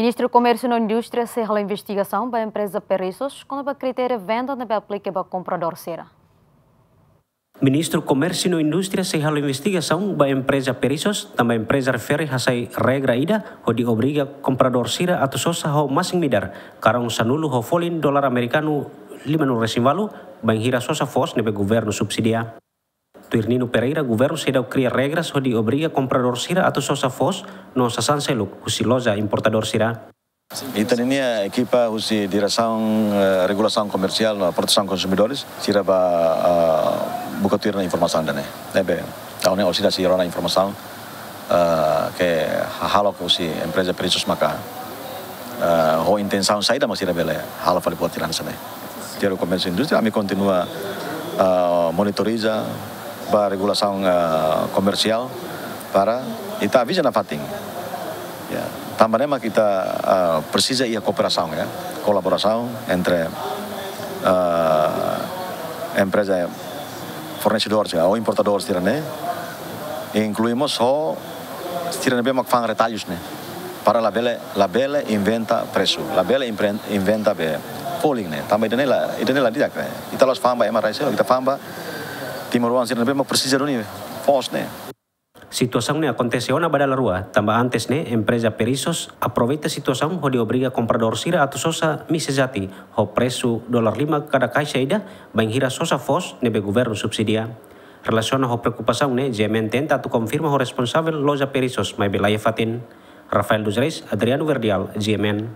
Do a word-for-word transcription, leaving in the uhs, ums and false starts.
Ministru Komérsiu no Indústria sei halo investigasaun ba empreza Perissos kona-ba kritéria venda ne'ebé aplika ba kompradór sira. Ministru Komérsiu no Indústria sei halo investigasaun ba empreza Perissos, tanba empreza refere hasai regra ida hodi obriga kompradór sira atu sosa ho masin-midar karong sanulu ho folin dolar amerikanu limanulu-resin-ualu, bainhira sosa foos ne'ebé governu subsidia. Tuir Nino Pereira, governu seidauk kria regras hodi obriga kompradór sira atu sosa foos no sasán seluk husi loja importadór sira. Ita-nia ekipa husi Diresaun, eh, Regulasaun Komersiál no Protesaun Konsumidores, sira bá, ah, buka tuir ona informasaun ida-ne'e. Ne'ebé, ha'u-nia orsida sira rona informasaun, ah, ke hahalok husi empreza Perissos maka, ah, ho intensaun saida mak sira bele halo fali buat ida-ne'e. Tuir Komérsiu Indústria, ami kontinua, ah, monitoriza ba regulasaun, ah, komersiál para ita avisa nafatin. Ya, tanba ne'e mak ita, ah, presiza iha kooperasaun, ya, kolaborasaun entre, ah, empreza fornesedór sira ou importadór sira-ne'e, inklui mós ho sira ne'ebé mak fa'an retalhus ne'e. Para labele, labele inventa presu, labele impren-, inventa be folin ne'e. Tanba ida-ne'e la, ida-ne'e la di'ak ne'e. Ita la'ós fa'an ba ema rai seluk, ita fa'an ba timoroan sira ne'ebé mak presiza duni foos ne'e. Situasaun ne'e akontese ona ba dala rua, tanba antes ne'e empreza Perissos aproveita situasaun hodi obriga kompradór sira atu sosa misa jati ho presu dolar lima kada kaixa ida, bainhira sosa foos ne'ebé governu subsidia. Relasiona ho preokupasaun ne'e, G M N tenta atu konfirma ho responsavel loja Perissos, maibé la iha fatin. Rafael dos Reis, Adriano Verdial, G M N.